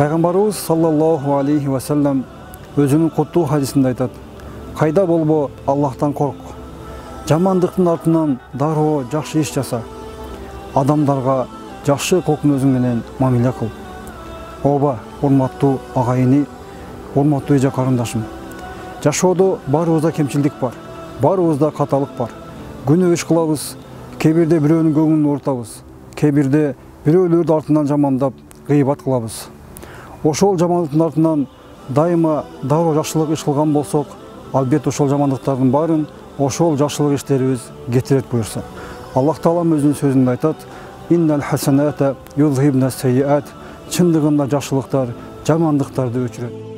Пайгамбарыбыз саллаллаху алейхи ва саллям өзүнүн куттуу хадисинде айтат: кайда болбо Аллахтан корк, жамандыктын артынан дароо жакшы иш жаса, адамдарга жакшы кылкын өзүң менен мамиле кыл. Ооба, урматтуу агайыны, урматтуу эже карындашым, жашоодо баарыбызда кемчилдик бар, баарыбызда каталык бар. Күнөө иш кылабыз, кээ бирде бирөөнүн көңүлүн оорутабыз, кээ бирде бирөөлөрдү артынан жамандап, гыйбат кылабыз. Ошол жамандыктын артынан дайыма дароо жакшылык иш кылган болсок, албетте ошол жамандыктардын баарын ошол жакшылык иштерибиз кетирет буюрса. Аллах Таалам өзүнүн сөзүндө айтат: «Иннал хасаната юзхибна сайиат». Чындыгында жакшылыктар жамандыктарды өчүрөт.